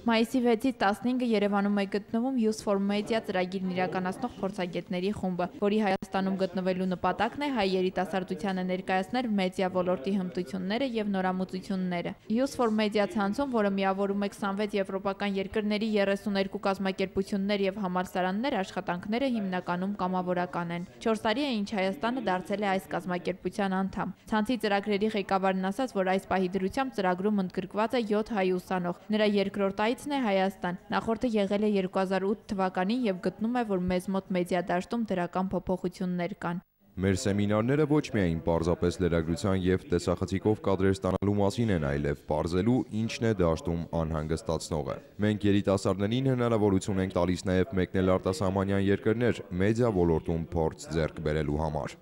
Մայիսի 6-ից 15-ը Երևանում է գտնվում Youth for Media ծրագիրն իրականացնող փորձագետների խումբը, որի Հայաստանում գտնվելու նպատակն է հայ երիտասարդությանը ներկայացնել մեդիա ոլորտի հմտությունները եւ նորամուծությունները։ Youth for Media ցանցում, որը միավորում է 26 եվրոպական երկրների 32 կազմակերպություններ եւ համալսարաններ, աշխատանքները հիմնականում կամավորական են։ 4 տարի է, ինչ Հայաստանը դարձել է այս կազմակերպության անդամ։ Ցանցի ծրագրերի ղեկավարն ասաց, որ այս պահի դրությամբ ծրագրում ընդգրկված է 7 հայ ուսանող։ Նրա երկրորդ այցն է Հայաստան։ Նախորդը եղել է 2008 թվականին եւ գտնում է, որ մեզ մոտ մեդիա դաշտում դրական փոփոխություններ կան։ Մեր սեմինարները ոչ միայն պարզապես լրագրության եւ տեսախցիկով կադրեր ստանալու մասին են, այլև պարզելու ինչն է դաշտում անհանգստացնողը։ Մենք երիտասարդներին հնարավորություն ենք տալիս նաեւ մեկնել արտասահմանյան երկրներ մեդիա ոլորտում փորձ ձեռք բերելու համար։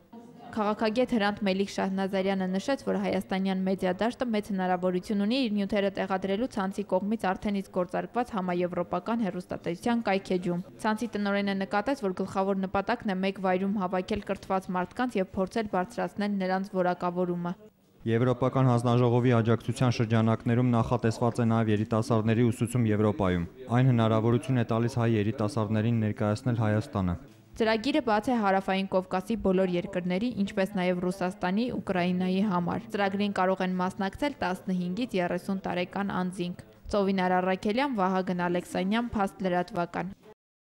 Քաղաքագետ Հրանտ Մելիք Շահնազարյանը նշեց, որ հայաստանյան մեդիա դաշտը մեծ հնարավորություն ունի իր նյութերը տեղադրելու ցանցի կողմից արդեն իսկ գործարկված համաեվրոպական հեռուստատեսության կայքեջում։ Ցանցի տնօրենը նկատեց, որ գլխավոր նպատակն է մեկ վայրում հավաքել կրթված մարդկանց եւ փորձել բարձրացնել նրանց որակավորումը։ Եվրոպական հանձնաժողովի աջակցության շրջանակներում նախատեսված է նաև երիտասարդների ուսուցում Եվրոպայում։ Այն հնարավորություն է տալիս հայ երիտասարդներին ներկայացնել Հայաստանը։ Ծրագիրը բաց է Հարավային Կովկասի բոլոր երկրների, ինչպես նաև Ռուսաստանի, Ուկրաինայի համար։ Ծրագրին կարող են մասնակցել 15-ից 30 տարեկան անձինք։ Ծովինար Առաքելյան, Վահագն Ալեքսանյան, Փաստ լրատվական։